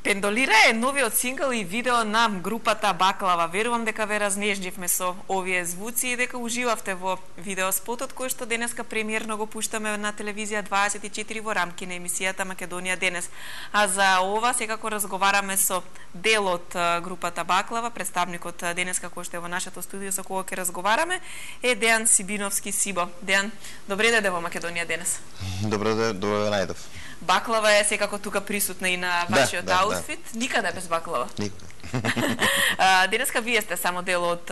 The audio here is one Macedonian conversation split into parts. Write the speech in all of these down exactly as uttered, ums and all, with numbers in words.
Пендолира е новиот сингл и видео на групата Баклава. Верувам дека ве разнеждивме со овие звуци и дека уживавте во видеоспотот кој што денеска премиерно го пуштаме на телевизија дваесет и четири во рамки на емисијата Македонија денес. А за ова секако разговараме со дел од групата Баклава, представникот денеска кој што е во нашето студио со кого ќе разговараме е Дејан Сибиновски Сибо. Дејан, добре дојде во Македонија денес. Добро дојде, добро најдов. Баклава е секако тука присутна и на вашиот да, да, аутфит. Да. Никаде без баклава. Никога. Денеска вие сте само дел од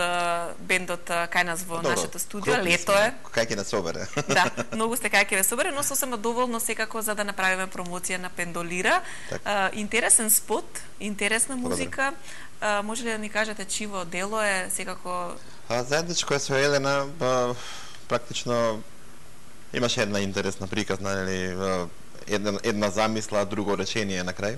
бендот кај нас во Добро, нашето студио. Лето е. Кај ќе нас собере. Да, многу сте кај ќе ве собере, но сосема доволно секако за да направиме промоција на Пендолира. А, интересен спот, интересна музика. А, може ли да ни кажете чиво дело е секако? А заедничко е со Елена, ба, практично имаше една интересна приказна, нели, една една замисла, друго речение на крај.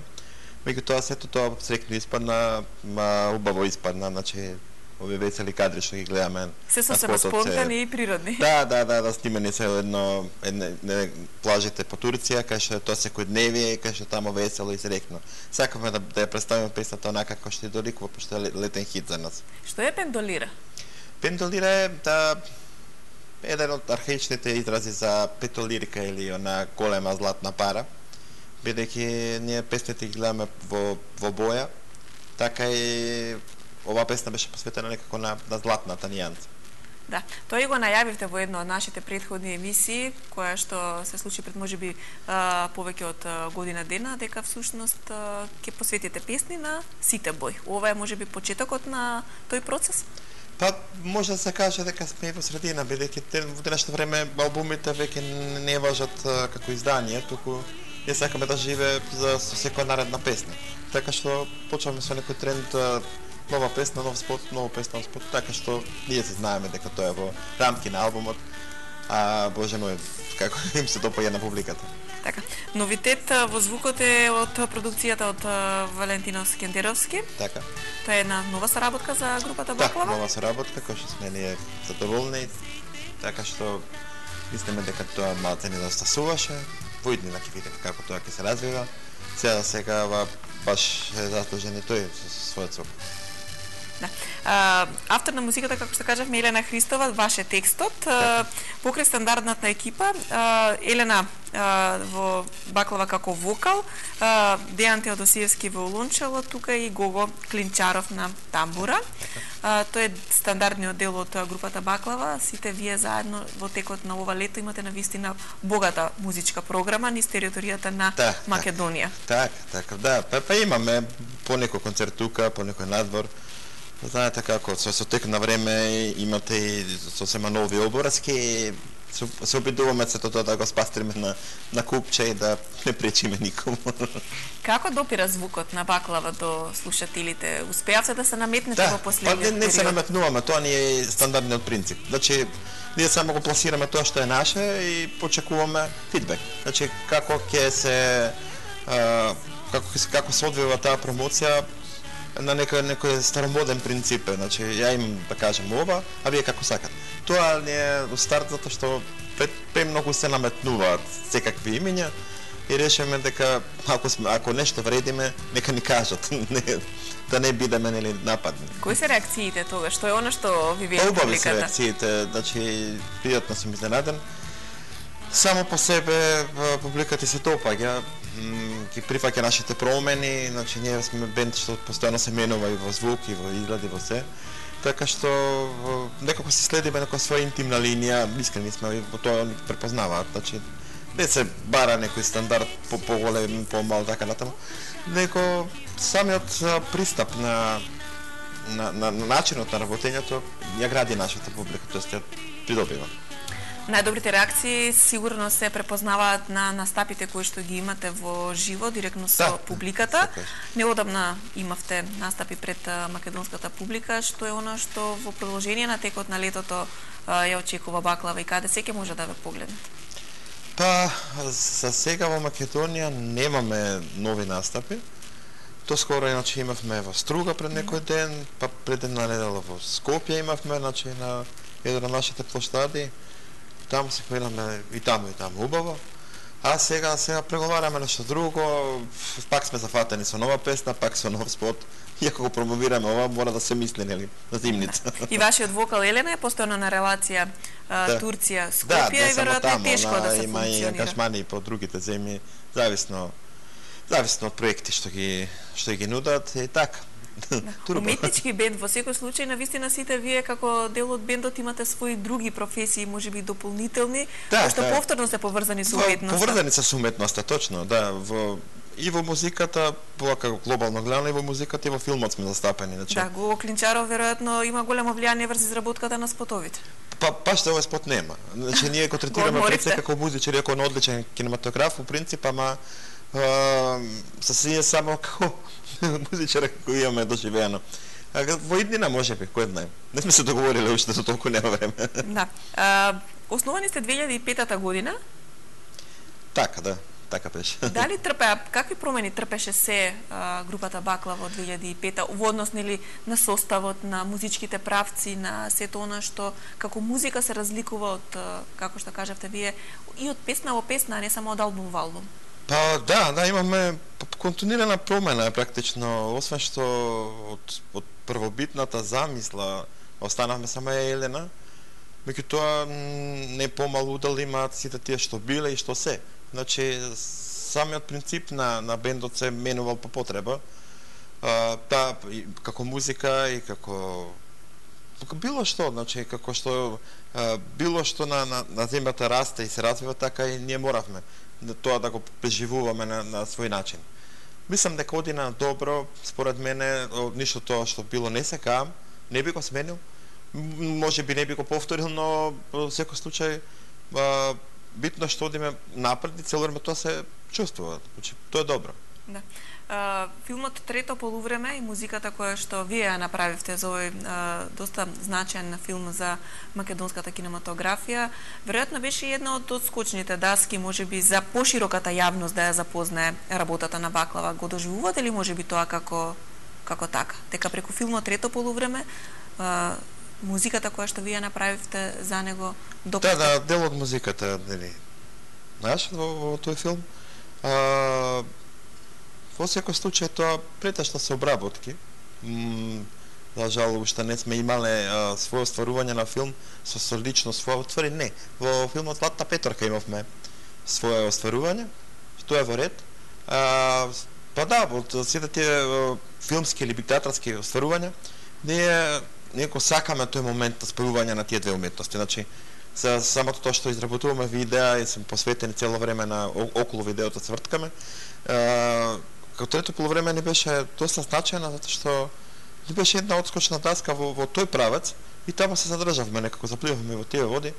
Меѓутоа сето тоа среќно испадна, ма убаво испадна, значи овие весели кадри што ги гледаме. Се сосема спонтани и природни. Да, да, да, да снимени се едно едне, едне плажите по Турција, кај што е тоа секојдневие, кај што тамо весело и среќно. Сакаме да, да ја представиме песната онака како што ја доликува, пошто е летен хит за нас. Што е Пендолира? Пендолира е да еден од архаичните изрази за петолирка или она голема златна пара, бидејќи ние песните ги гледаме во, во боја, така и ова песна беше посветена некако на, на златната нијанса. Да, тоа и го најавивте во една од нашите претходни емисии, која што се случи пред можеби повеќе од година дена, дека всушност ќе посветите песни на сите бој. Ова е можеби почетокот на тој процес? Па, може да се каже дека сме во средина, бидејќи во денешно време албумите веќе не важат како издание, туку ние сакаме да живее за со секоја наредна песна. Така што почваме со некој тренд, нова песна, нов спот, нова песна, нов спот, така што ние се знаеме дека тоа е во рамки на албумот, а боже мој, како им се допаѓа на публиката. Така, новитет во звукот е од продукцијата од Валентино Скендеровски. Така. Тоа е една нова соработка за групата Баклава? Да, нова соработка, која што сме ние задоволни, така што мислиме дека тоа малце не достасуваше. Во иднина ќе видиме како тоа ќе се развива. Сега сега баш е заслужен и тој со својот звук. Да. А, автор на музиката, како што кажавме, Елена Христова, ваш е текстот. А, покрај стандардната екипа, а, Елена а, во Баклава како вокал, а, Дејан Теодосиевски во улунчало, тука и Гого Клинчаров на тамбура. А, тој е стандардниот дел од групата Баклава. Сите вие заедно во текот на ова лето имате навистина богата музичка програма низ територијата на да, Македонија. Така, така, да. Па, па имаме по некој концерт тука, по некој надвор. Знаете како, со, со тек на време имате и сосема нови обврски, се, се обидуваме сето тоа да го спастриме на, на купче и да не пречиме никому. Како допира звукот на Баклава до слушателите? Успеавте да се наметнете да, во последниот период? Да, не, не се период? наметнуваме, тоа ни е стандардниот принцип. Значи, ние само го пласираме тоа што е наше и почекуваме фидбек. Значи, како ќе се а, како, како се одвива таа промоција, на некој некој старомоден принцип, значи ја им да кажам ова, а вие како сакате. Тоа не е во старт затоа што премногу се наметнуваат секакви имиња и решиме дека ако сме ако нешто вредиме, нека ни кажат, не, да не бидеме нели нападни. Кои се реакциите тогаш? Што е она што ви вие публиката? Убави се реакциите, значи пријатно сум изненаден. Само по себе публиката се допаѓа, ги прифаќа нашите промени, значи ние сме бенд што постојано се менува и во звук, и во изглед, и во се. Така што некако се следиме некоја своја интимна линија, искрени сме и во тоа они препознаваат, значи не се бара некој стандард по поголем, помал така натаму, него самиот пристап на на, на, на начинот на работењето ја гради нашата публика, тоест ја придобива. Најдобрите реакции сигурно се препознаваат на настапите кои што ги имате во живо, директно со да, публиката. Неодамна имавте настапи пред македонската публика, што е она што во продолжение на текот на летото ја очекува Баклава и каде секој може да ве погледнат? Па, за сега во Македонија немаме нови настапи. То скоро иначе имавме во Струга пред некој ден, па пред една недела во Скопје имавме, значи на еден од нашите площади. Таму се хвиламе и таму и таму убаво. А сега сега преговараме нешто друго, пак сме зафатени со нова песна, пак со нов спот. Иако го промовираме ова, мора да се мисли, нели, на зимница. И вашиот вокал Елена е постојано на релација да. Турција, да, Скопје и веројатно е тешко она, да се има функционира. Има и ангажмани по другите земји, зависно зависно од проекти што ги што ги нудат и така. Да. Уметнички бенд во секој случај, навистина сите вие како дел од бендот имате своји други професии, можеби дополнителни, да, што да. повторно се поврзани со уметноста. Поврзани се со уметноста, точно, да, во и во музиката, како глобално гледано, и во музиката и во филмот сме застапени, значи. Да, Гого Клинчаров веројатно има големо влијание врз изработката на спотовите. Па па што овој спот нема. Значи ние го третираме пред се како музичар, како одличен кинематограф, во принцип, ама се си само како музичар како имаме доживеено. А во иднина можеби, кој знае. Не сме се договориле уште, за толку нема време. Да. А, основани сте две илјади и пета година? Така, да. Така беше. Дали трпеа, какви промени трпеше се а, групата Баклава од две илјади и пета во однос нели на составот, на музичките правци, на сето она што како музика се разликува од, како што кажавте вие, и од песна во песна, а не само од албум во албум? Па да, да, имаме континуирана промена практично, освен што од, од првобитната замисла останавме само Елена, меѓутоа не помалу удел имаат сите тие што биле и што се. Значи, самиот принцип на, на бендот се менувал по потреба. А, да, и, како музика и како, како било што, значи, како што а, било што на, на, на земјата расте и се развива, така и ние моравме да, тоа да го преживуваме на, на свој начин. Мислам дека одина добро, според мене, ништо тоа што било не се каам, не би го сменил, може би не би го повторил, но во секој случај а, битно што одиме напред и цело време тоа се чувствува. Значи, тоа е добро. Да. А, филмот Трето полувреме и музиката која што вие ја направивте за овој а, доста значаен филм за македонската кинематографија, веројатно беше една од одскочните даски, можеби за пошироката јавност да ја запознае работата на Баклава. Го доживувате ли можеби тоа како како така? Дека преку филмот Трето полувреме а, музиката која што вие направивте за него допуста? Да, да, дел од музиката, нели, знаеш, во, во тој филм. А, во секој случај тоа претешно се обработки. М, за жал, уште не сме имале а, своје остварување на филм со, со лично своје отвори. Не, во филмот Златна петорка имавме своје остварување, што е во ред. А, па да, од сите тие филмски или театарски остварувања, ние неко сакаме тој момент на спојување на тие две уметности. Значи, за самото тоа што изработуваме видеа и сме посветени цело време на околу видеото цврткаме. Како Трето полувреме не беше доста значајна затоа што не беше една одскочна таска во, во тој правец и таму се задржавме, некако запливаме во тие води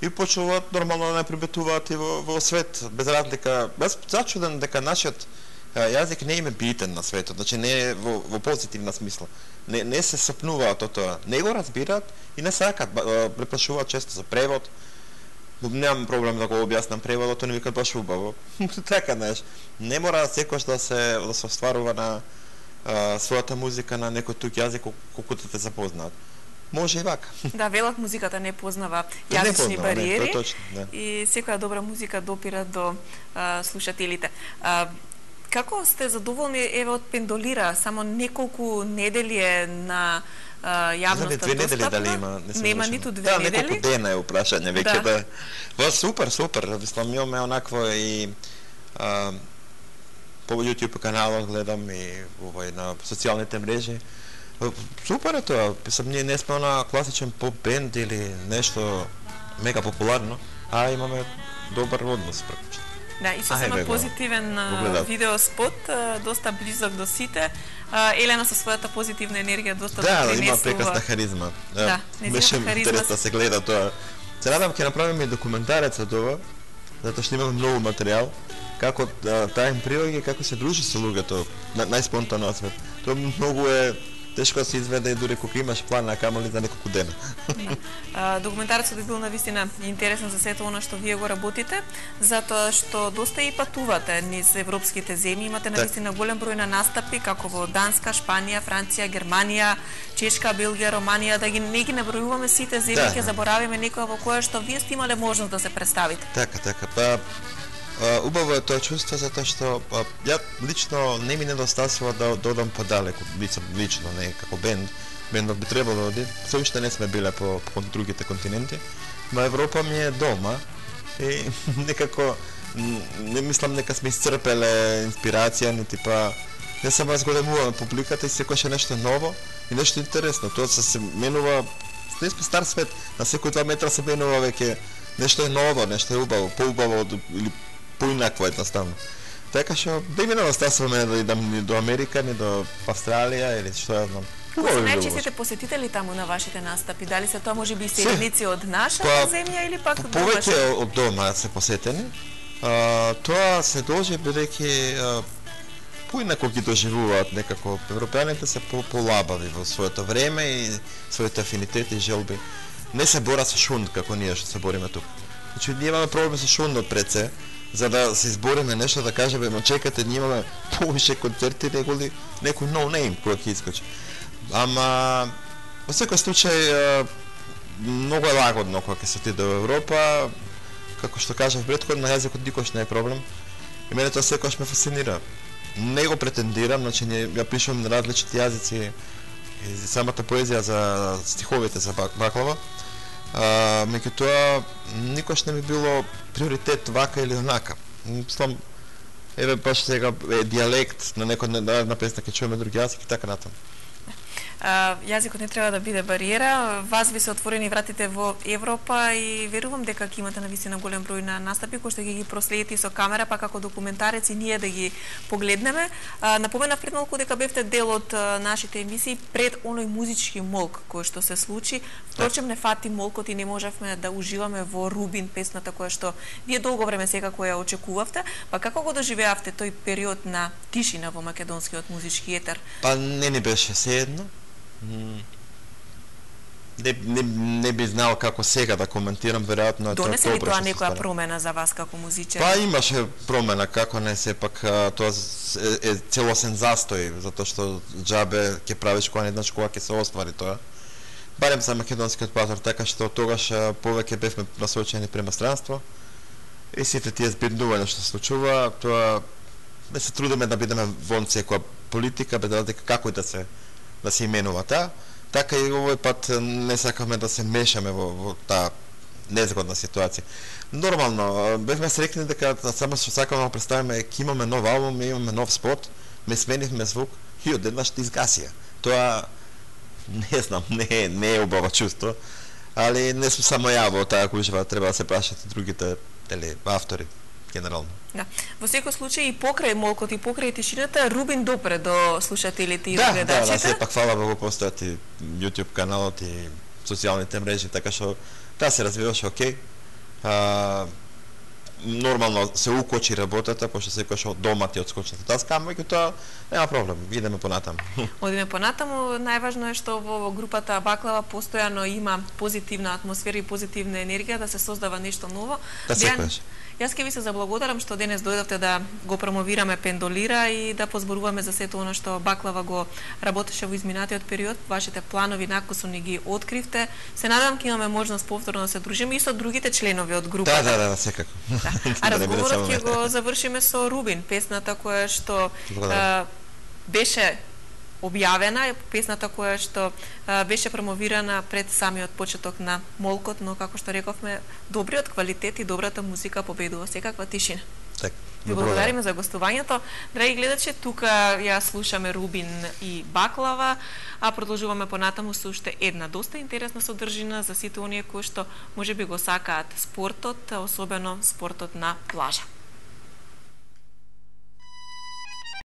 и почнуваат нормално да не прибетуваат и во, во свет, без разлика. Без зачуден дека нашиот јазик не им е битен на светот, значи не е во, во позитивна смисла. Не, не се сопнуваат од тоа, не го разбираат и не сакат, препрашуваат често за превод. Немам проблем да го објаснам преводот, они викаат баш убаво. Така, знаеш, не мора секојаш да се да се остварува на а, својата музика на некој тук јазик колку да те запознаат. Може и вака. Да, велат музиката не познава јазични не бариери, не, точно, да. И секоја добра музика допира до а, слушателите. А, како сте задоволни еве од Пендолира, само неколку недели е на а, јавноста две недели достапна? дали има, не Нема завршено. ниту две да, недели. Да, неколку дена е упрашање веќе Да. да. Во супер, супер, мислам имаме онакво и а, по YouTube каналот гледам и овој на социјалните мрежи. Супер е тоа, мислам ние не сме на класичен поп бенд или нешто мега популарно, а имаме добар однос практично. Да, и сосема Ајде, го- позитивен го а, гледат. видеоспот, а, доста близок до сите. А, Елена со својата позитивна енергија доста Да, допринесува. има прекрасна харизма. Да, нејзината беше харизма интересно да се гледа тоа. Се надам ќе направиме и документарец од ова, затоа што имаме многу материјал, како да, таа им приоѓа и како се дружи со луѓето на, најспонтано на свет. Тоа многу е тешко да се изведе и дури кога имаш план, а камоли за неколку дена. А, Документарецот би бил навистина интересен за сето она што вие го работите, затоа што доста и патувате низ европските земји, имате навистина голем број на настапи како во Данска, Шпанија, Франција, Германија, Чешка, Белгија, Романија, да ги не ги набројуваме сите земји, Да. ќе заборавиме некоја во која што вие сте имале можност да се представите. Така, така. Па убаво е тоа чувство затоа што а, ја лично не ми недостасува да додам подалеку, лично, не како бенд. Бендот би требало да оди. Се уште не сме биле по, по другите континенти, но Европа ми е дома и некако не мислам нека сме исцрпеле инспирација, ни типа не само разгодемуваме публиката и секојаш е нешто ново и нешто интересно. Тоа се се менува, не сме стар свет, на секој два метра се менува веќе нешто е ново, нешто е убаво, поубаво или поинакво едноставно. Така што да ми недостасуваме да идам ни до Америка, ни до Австралија или што ја знам. Кои се најчестите посетители таму на вашите настапи? Дали се тоа можеби селеници од нашата земја или пак од повеќе од дома се посетени? А, тоа се должи бидејќи поинако ги доживуваат некако. Европеаните се по-полабави во своето време и своите афинитети и желби. Не се борат со шунд како ние што се бориме тука. Значи ние имаме проблем со шундот пред се, за да се избориме нешто да кажеме, но чекате, ние имаме повише концерти неголи некој no name кој ќе искочи. Ама во секој случај многу е лагодно кога ќе се отиде до Европа. Како што кажав претходно, на јазикот никош не е проблем. И мене тоа секогаш ме фасцинира. Не го претендирам, значи не ја пишувам на различни јазици и самата поезија за стиховите за Баклава. А, меѓутоа никош не ми било приоритет вака или онака. Мислам, еве баш сега е дијалект на некој на песна ќе чуеме други јазик и така натаму. Uh, јазикот не треба да биде бариера. Вас ви се отворени вратите во Европа и верувам дека ќе имате навистина голем број на настапи кои што ќе ги проследите со камера, па како документарец и ние да ги погледнеме. Uh, напоменав пред малку дека бевте дел од uh, нашите емисии пред оној музички молк кој што се случи. Впрочем не фати молкот и не можевме да уживаме во Рубин, песната која што вие долго време секако ја очекувавте. Па како го доживеавте тој период на тишина во македонскиот музички етер? Па не ни беше sejedno. Не, не, не би знал како сега да коментирам, веројатно тоа донесе ли тоа некоја промена за вас како музичар? Па имаше промена, како не, сепак тоа е, е целосен застој, затоа што џабе ќе правиш кога еднаш кога ќе се оствари тоа. Барем за македонскиот пазар, така што тогаш повеќе бевме насочени према странство и сите тие збирнувања што се случува, тоа не се трудиме да бидеме вон секоја политика, бе дека како и да се да се именува таа, така и овој пат не сакаме да се мешаме во, во таа незгодна ситуација. Нормално, бевме срекни дека само што сакаме да представиме, ќе имаме нов албум, имаме нов спот, ме сменивме звук и одеднаш ти изгасија. Тоа не знам, не, не е убаво чувство, али не сум само ја во таа гужва, треба да се прашат и другите дели автори генерално. Да. Во секој случај и покрај молкот и покрај тишината Рубин допре до слушателите и да, гледачите. Да, да, сепак фала Богу постојат и YouTube каналот и социјалните мрежи, така што таа се развиваше окей. А, нормално се укочи работата, пошто секојаш од дома ти одскочната таска, меѓутоа нема проблем, идеме понатаму. Одиме понатаму, најважно е што во групата Баклава постојано има позитивна атмосфера и позитивна енергија да се создава нешто ново. Да секојаш. Јас ке ви се заблагодарам што денес дојдовте да го промовираме Пендолира и да позборуваме за сето оно што Баклава го работеше во изминатиот период. Вашите планови накусо ни ги откривте. Се надевам ќе имаме можност повторно да се дружиме и со другите членови од групата. Да, да, да, секако. Да. А разговорот ќе го завршиме со Рубин, песната која што а, беше објавена, песната која што а, беше промовирана пред самиот почеток на молкот, но како што рековме, добриот квалитет и добрата музика победува секаква тишина. Так. Ви благодариме за гостувањето. Драги гледачи, тука ја слушаме Рубин и Баклава, а продолжуваме понатаму со уште една доста интересна содржина за сите оние кои што можеби го сакаат спортот, особено спортот на плажа.